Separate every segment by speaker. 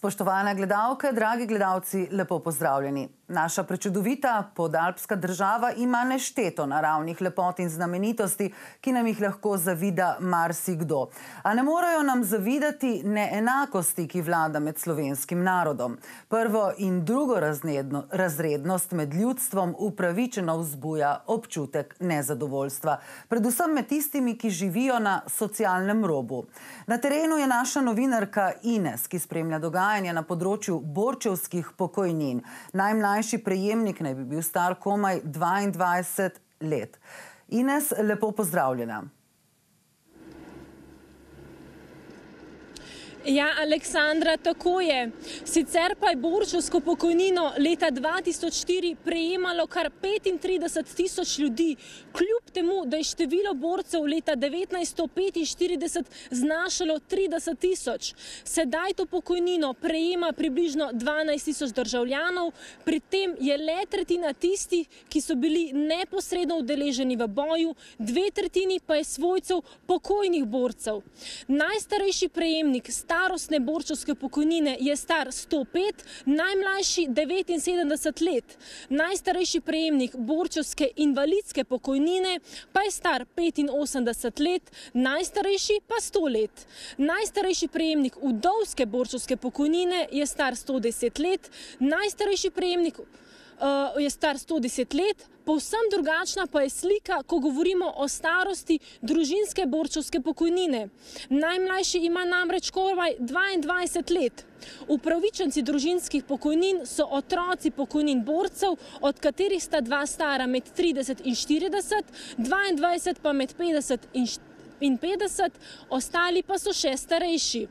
Speaker 1: Spoštovane gledalke, dragi gledalci, lepo pozdravljeni. Naša prečudovita podalpska država ima nešteto naravnih lepot in znamenitosti, ki nam jih lahko zavida marsikdo. A ne morejo nam zavidati neenakosti, ki vlada med slovenskim narodom. Prvo in drugo razrednost med ljudstvom upravičeno vzbuja občutek nezadovoljstva. Predvsem med tistimi, ki živijo na socialnem robu. Na terenu je naša novinarka Ines, ki spremlja dogajanje na področju borčevskih pokojnin. Najmlajši prejemnik naj bi bil star komaj 22 let. Ines, lepo pozdravljena.
Speaker 2: Ja, Aleksandra, tako je. Sicer pa je borčevsko pokojnino leta 2004 prejemalo kar 35 tisoč ljudi, kljub temu, da je število borcev leta 1945 znašalo 30 tisoč. Sedaj to pokojnino prejema približno 12 tisoč državljanov, pri tem je le tretjina tistih, ki so bili neposredno udeleženi v boju, 2/3 pa je svojcev pokojnih borcev. Najstarejši prejemnik starostne borčevske pokojnine je star 105, najmlajši 79 let. Najstarejši prejemnik borčevske invalidske pokojnine pa je star 85 let, najstarejši pa 100 let. Najstarejši prejemnik vdovske borčevske pokojnine je star 110 let, najstarejši prejemnik je star 110 let, povsem drugačna pa je slika, ko govorimo o starosti družinske borčevske pokojnine. Najmlajši ima namreč komaj 22 let. Upravičenci družinskih pokojnin so otroci pokojnin borcev, od katerih sta dva stara med 30 in 40, 22 pa med 50 in 50, ostali pa so še starejši.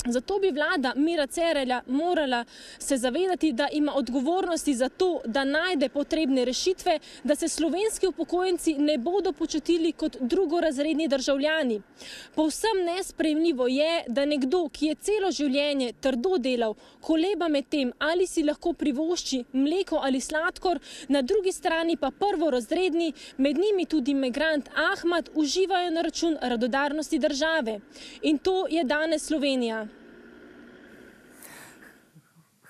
Speaker 2: Zato bi vlada Mira Cerarja morala se zavedati, da ima odgovornosti za to, da najde potrebne rešitve, da se slovenski upokojenci ne bodo počutili kot drugorazredni državljani. Povsem nesprejemljivo je, da nekdo, ki je celo življenje trdo delal, koleba med tem, ali si lahko privošči mleko ali sladkor, na drugi strani pa prvorazredni, med njimi tudi migrant Ahmad, uživajo na račun radodarnosti države. In to je danes Slovenija.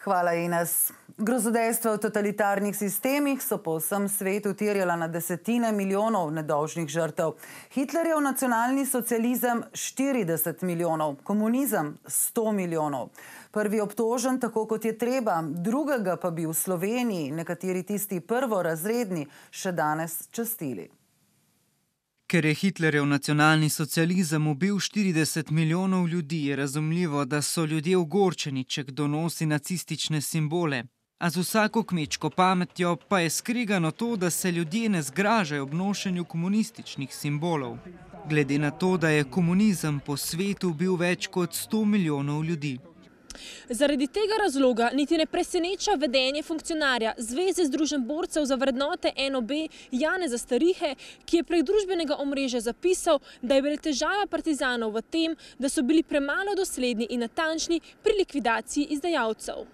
Speaker 1: Hvala, Ines. Grozodejstva v totalitarnih sistemih so po vsem svetu terjala na desetine milijonov nedolžnih žrtev. Hitlerjev nacionalni socializem 40 milijonov, komunizem 100 milijonov. Prvi obtožen tako, kot je treba, drugega pa bi v Sloveniji nekateri tisti prvorazredni še danes častili.
Speaker 3: Ker je Hitlerjev nacionalni socializem ubil 40 milijonov ljudi, je razumljivo, da so ljudje ogorčeni, če kdo nosi nacistične simbole. A z vsako kmečko pametjo pa je skregano to, da se ljudje ne zgražajo ob nošenju komunističnih simbolov. Glede na to, da je komunizem po svetu bil več kot 100 milijonov ljudi.
Speaker 2: Zaradi tega razloga niti ne preseneča vedenje funkcionarja Zveze združenj borcev za vrednote NOB Janeza Starihe, ki je prek družbenega omrežja zapisal, da je bila težava partizanov v tem, da so bili premalo dosledni in natančni pri likvidaciji izdajalcev.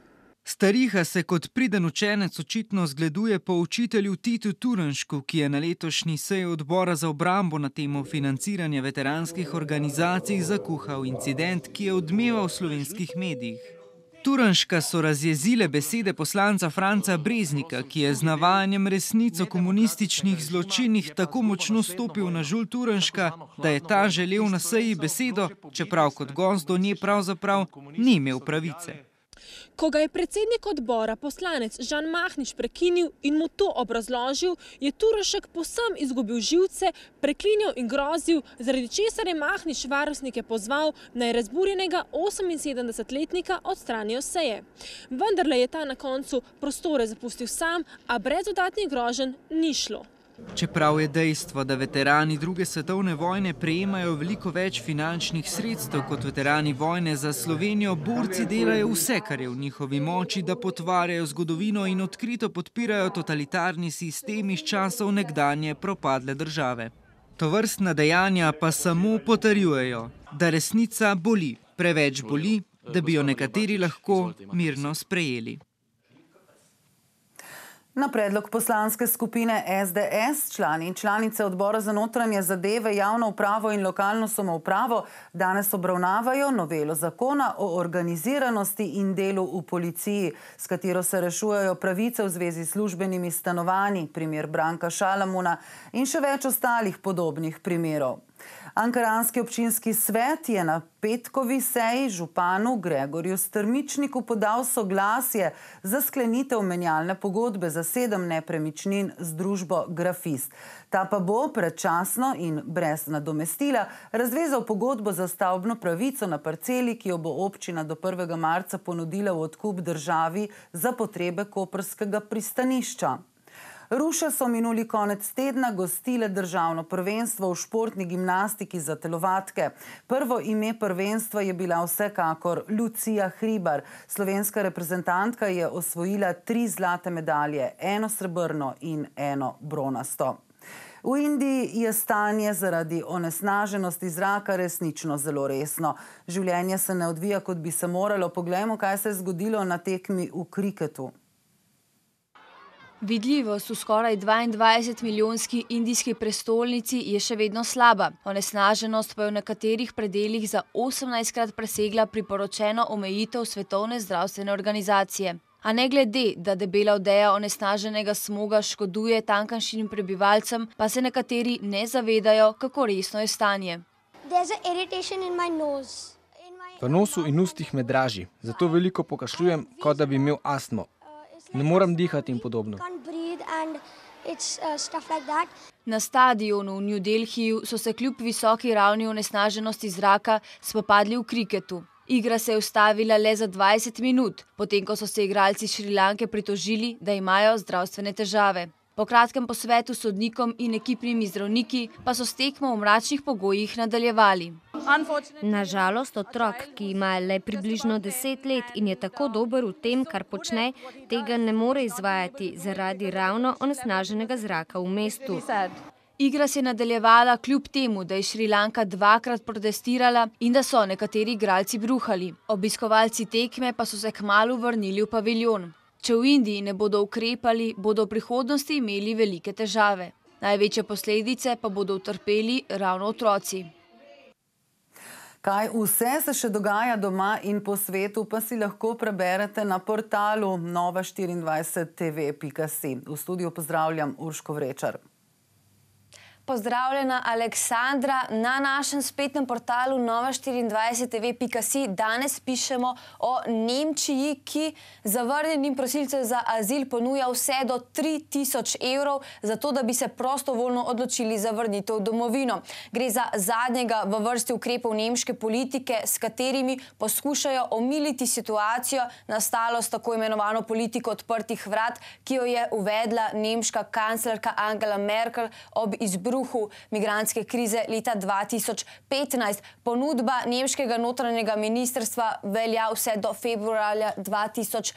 Speaker 3: Stariha se kot priden učenec očitno zgleduje po učitelju Titu Turnšku, ki je na letošnji seji odbora za obrambo na temo financiranja veteranskih organizacij zakuhal incident, ki je odmeval v slovenskih medijih. Turnška so razjezile besede poslanca Franca Breznika, ki je z navajanjem resnic o komunističnih zločinih tako močno stopil na žulj Turnška, da je ta želel na seji besedo, čeprav kot gost do nje pravzaprav ni imel pravice.
Speaker 2: Ko ga je predsednik odbora, poslanec Žan Mahnič, prekinil in mu to obrazložil, je Turnšek povsem izgubil živce, preklinjal in grozil, zaradi česar je Mahnič varnostnike pozval, naj razburjenega 78-letnika odstranijo seje. Vendarle je ta na koncu prostore zapustil sam, a brez dodatnih groženj ni šlo.
Speaker 3: Čeprav je dejstvo, da veterani druge svetovne vojne prejemajo veliko več finančnih sredstev kot veterani vojne za Slovenijo, borci delajo vse, kar je v njihovi moči, da potvarjajo zgodovino in odkrito podpirajo totalitarni sistem iz časov nekdanje propadle države. Tovrstna dejanja pa samo potrjujejo, da resnica boli, preveč boli, da bi jo nekateri lahko mirno sprejeli.
Speaker 1: Na predlog poslanske skupine SDS člani in članice odbora za notranje zadeve, javno upravo in lokalno samoupravo danes obravnavajo novelo zakona o organiziranosti in delu v policiji, s katero se rešujejo pravice v zvezi s službenimi stanovanji, primer Branka Šalamuna in še več ostalih podobnih primerov. Ankaranski občinski svet je na petkovi seji županu Gregorju Strmičniku podal soglasje za sklenitev menjalne pogodbe za 7 nepremičnin z družbo Grafist. Ta pa bo predčasno in brez nadomestila razvezal pogodbo za stavbno pravico na parceli, ki jo bo občina do 1. marca ponudila v odkup državi za potrebe koprskega pristanišča. Ruše so minuli konec tedna gostile državno prvenstvo v športni gimnastiki za telovadke. Prvo ime prvenstva je bila vsekakor Lucija Hribar. Slovenska reprezentantka je osvojila 3 zlate medalje, 1 srebrno in 1 bronasto. V Indiji je stanje zaradi onesnaženosti zraka resnično zelo resno. Življenje se ne odvija, kot bi se moralo. Poglejmo, kaj se je zgodilo na tekmi v kriketu.
Speaker 4: Vidljivost v skoraj 22-milijonski indijski prestolnici je še vedno slaba. Onesnaženost pa je v nekaterih predelih za 18-krat presegla priporočeno omejitev Svetovne zdravstvene organizacije. A ne glede, da debela odeja onesnaženega smoga škoduje tamkajšnjim prebivalcem, pa se nekateri ne zavedajo, kako resno je stanje.
Speaker 5: V nosu in ustih me draži, zato veliko pokašljujem, kot da bi imel astmo. Ne morem dihati in podobno.
Speaker 4: Na stadionu v New Delhiju so se kljub visoki ravni onesnaženosti zraka spopadli v kriketu. Igra se je ustavila le za 20 minut, potem ko so se igralci Šrilanke pritožili, da imajo zdravstvene težave. Po kratkem posvetu s sodnikom in ekipnimi zdravniki pa so s tekmo v mračnih pogojih nadaljevali.
Speaker 6: Na žalost otrok, ki ima le približno 10 let in je tako dober v tem, kar počne, tega ne more izvajati zaradi ravno onesnaženega zraka v mestu.
Speaker 4: Igra se je nadaljevala kljub temu, da je Šrilanka 2-krat protestirala in da so nekateri igralci bruhali. Obiskovalci tekme pa so se kmalu vrnili v paviljon. Če v Indiji ne bodo ukrepali, bodo v prihodnosti imeli velike težave. Največje posledice pa bodo utrpeli ravno otroci.
Speaker 1: Kaj vse se še dogaja doma in po svetu, pa si lahko preberete na portalu nova24tv.si. V studiu pozdravljam Urško Vrečar.
Speaker 4: Pozdravljena Aleksandra, na našem spletnem portalu nova24tv.si danes pišemo o Nemčiji, ki zavrnjenim prosilcem za azil ponuja vse do 3000 evrov, zato da bi se prostovoljno odločili za vrnitev v domovino. Gre za zadnjega v vrsti ukrepov nemške politike, s katerimi poskušajo omiliti situacijo, nastalo s tako imenovano politiko odprtih vrat, ki jo je uvedla nemška kanclerka Angela Merkel ob izbruhu migrantske krize leta 2015. Ponudba nemškega notranjega ministrstva velja vse do februarja 2018.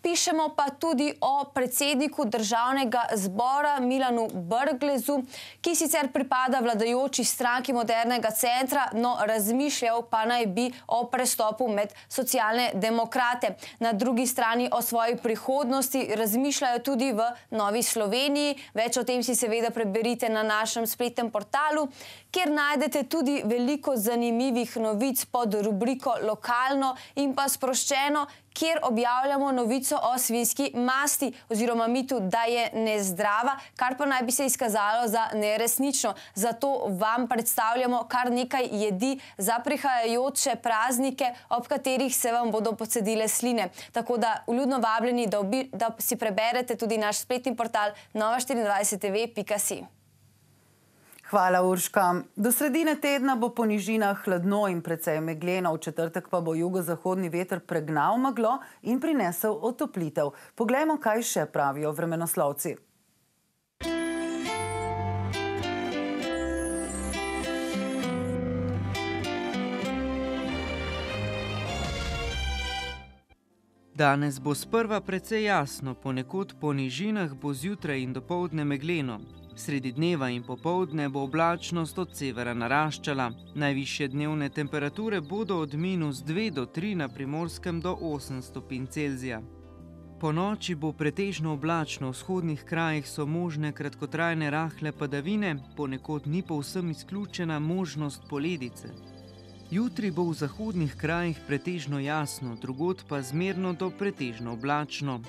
Speaker 4: Pišemo pa tudi o predsedniku državnega zbora Milanu Brglezu, ki sicer pripada vladajoči stranki Modernega centra, no razmišljal pa naj bi o prestopu med socialne demokrate. Na drugi strani o svoji prihodnosti razmišljajo tudi v Novi Sloveniji. Več o tem si seveda preberite na našem spletnem portalu, kjer najdete tudi veliko zanimivih novic pod rubriko Lokalno in pa Sproščeno, kjer objavljamo novico o svinjski masti oziroma mitu, da je nezdrava, kar pa naj bi se izkazalo za neresnično. Zato vam predstavljamo kar nekaj jedi za prihajajoče praznike, ob katerih se vam bodo pocedile sline. Tako da vljudno vabljeni, da si preberete tudi naš spletni portal nova24tv.si.
Speaker 1: Hvala, Urška. Do sredine tedna bo po nižinah hladno in precej megleno, v četrtek pa bo jugozahodni veter pregnal meglo in prinesel otoplitev. Poglejmo, kaj še pravijo vremenoslovci.
Speaker 3: Danes bo sprva precej jasno, ponekod po nižinah bo zjutraj in dopoldne megleno. Sredi dneva in popoldne bo oblačnost od severa naraščala. Najvišje dnevne temperature bodo od -2 do 3 na Primorskem do 8 stopinj Celzija. ponoči bo pretežno oblačno, v vzhodnih krajih so možne kratkotrajne rahle padavine, ponekod ni povsem izključena možnost poledice. Jutri bo v zahodnih krajih pretežno jasno, drugod pa zmerno do pretežno oblačno.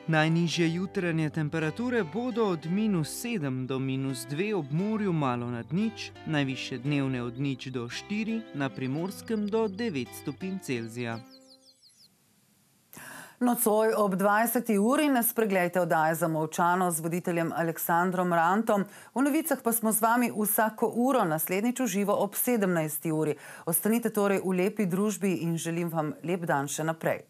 Speaker 3: Najnižje jutranje temperature bodo od -7 do -2 ob morju malo nad nič, najvišje dnevne od 0 do 4, na Primorskem do 9 stopinj Celzija.
Speaker 1: Nocoj ob 20. uri nas preglejte oddaje Zamolčano z voditeljem Aleksandrom Rantom. V novicah pa smo z vami vsako uro, naslednjič v živo ob 17. uri. Ostanite torej v lepi družbi in želim vam lep dan še naprej.